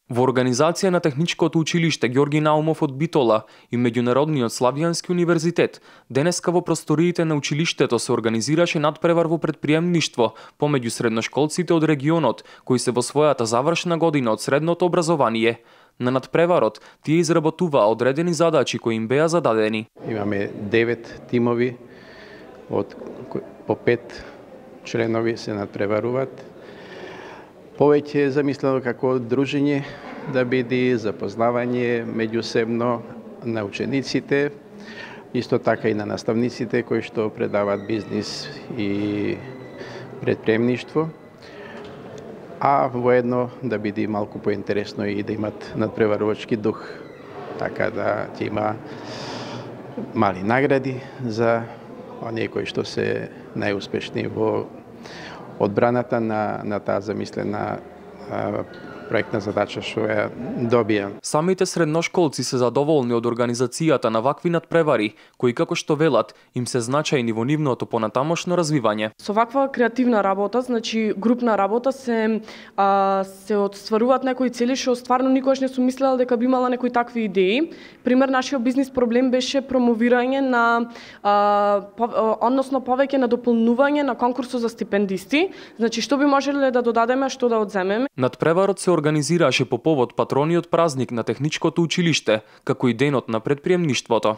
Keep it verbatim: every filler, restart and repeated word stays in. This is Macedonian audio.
Во организација на Техничкото училиште Ѓорги Наумов од Битола и Меѓународниот Славјански универзитет, денеска во просториите на училиштето се организираше надпревар во претприемништво помеѓу средношколците од регионот кои се во својата завршна година од средното образование. На надпреварот тие изработуваа одредени задачи кои им беа зададени. Имаме девет тимови од по пет членови се надпреваруваат. Повеќе е замислено како дружење да биде запознавање меѓусебно на учениците, исто така и на наставниците кои што предаваат бизнис и претприемништво, а воедно да биде малку поинтересно и да имат надпреварувачки дух, така да ќе има мали награди за оние кои што се најуспешни во одбраната на, на таа замислена а, проектна задача што ја добија. Самите средношколци се задоволни од организацијата на вакви надпревари, кои како што велат, им се значајни во нивното понатамошно развивање. Со ваква креативна работа, значи групна работа, се а, се отстваруваат некои цели што стварно никогаш не сум мислела дека би имала некои такви идеи. Пример, нашиот бизнис проблем беше промовирање на а, по, односно повеќе на дополнување на конкурсот за стипендисти. Значи што би можеле да додадеме, што да одземеме. Надпреварот се организираше по повод патрониот празник на Техничкото училиште, како и денот на претприемништвото.